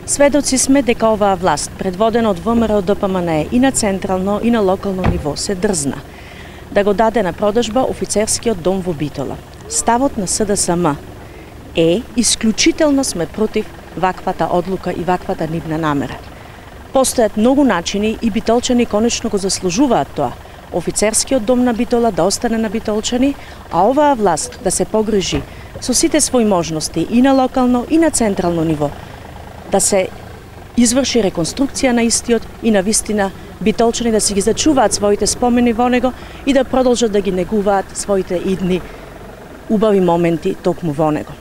Сведоци сме дека оваа власт, предводена од ВМРО ДПМНЕ и на централно и на локално ниво, се дрзна да го даде на продажба офицерскиот дом во Битола. Ставот на СДСМ е исклучително сме против ваквата одлука и ваквата нивна намера. Постојат многу начини и битолчани конечно го заслужуваат тоа. Офицерскиот дом на Битола да остане на битолчани, а оваа власт да се погрижи со сите своји можности и на локално и на централно ниво, да се изврши реконструкција на истиот и на вистина битолчани да си ги зачуваат своите спомени во него и да продолжат да ги негуваат своите идни убави моменти токму во него.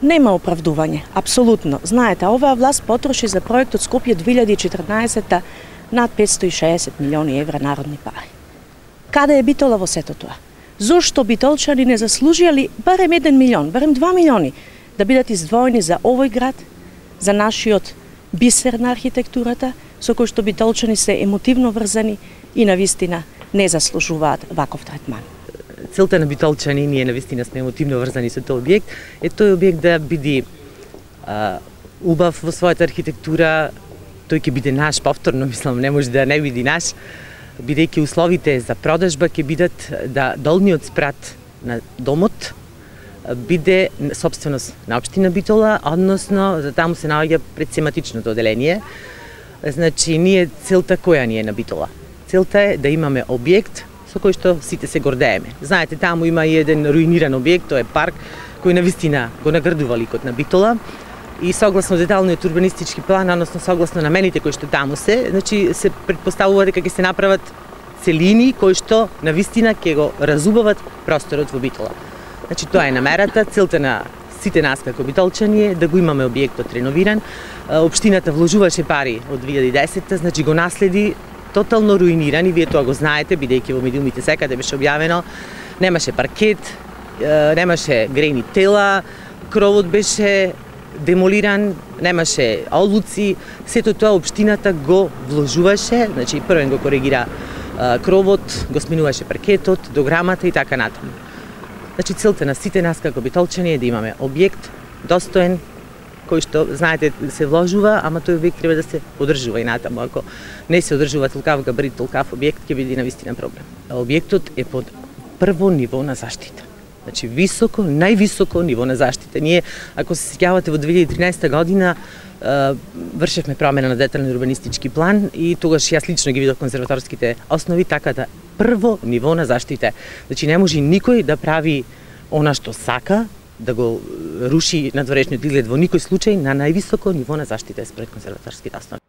Нема оправдување, апсолутно. Знаете, оваа власт потроши за проектот Скопје 2014 над 560 милиони евра народни пари. Каде е Битола во сето тоа? Зошто битолчани не заслужиле барем 1 милион, барем 2 милиони да бидат издвоени за овој град, за нашиот бисер на архитектурата, со кој што битолчани се емотивно врзани и навистина не заслужуваат ваков третман. Целта на битолчани, ние навистина сме емотивно врзани со тој објект, е тој објект да биде убав во својата архитектура. Тој ќе биде наш повторно, мислам, не може да не биде наш, бидејќи условите за продажба ќе бидат да долниот спрат на домот биде собственост на општина Битола, односно за таму се наоѓа предсематичното оделение. Значи, целта која ни е на Битола? Целта е да имаме објект со кој што сите се гордееме. Знаете, таму има и еден руиниран објект, тој е парк, кој навистина го наградува ликот на Битола. И согласно деталниот урбанистички план, односно согласно намените кои што таму значи се предпоставува дека ќе се направат целини кои што навистина ќе го разубават просторот во Битола. Значи тоа е намерата, целта на сите нас како битолчани е да го имаме објектот реновиран. Општината вложуваше пари од 2010, значи го наследи тотално руиниран и вие тоа го знаете, бидејќи во медиумите секаде беше објавено. Немаше паркет, немаше грејни тела, кровот беше демолиран, немаше одлуци, сето тоа општината го вложуваше, значи првен го коригира кровот, го сменуваше паркетот, дограмата и така натаму. Значи целта на сите нас како битолчани е да имаме објект достоен, кој што, знаете, се вложува, ама тој објект треба да се одржува и натаму. Ако не се одржува толкав габарит, толкав објект, ќе биде навистина проблем. Објектот е под прво ниво на заштита. Значи високо, највисоко ниво на заштита. Ние, ако се сеќавате, во 2013 година вршевме промена на детален урбанистички план и тогаш јас лично ги видов конзерваторските основи, така да прво ниво на заштита. Значи не може никој да прави она што сака, да го руши надворешниот изглед во никој случај на највисоко ниво на заштита според конзерваторските основи.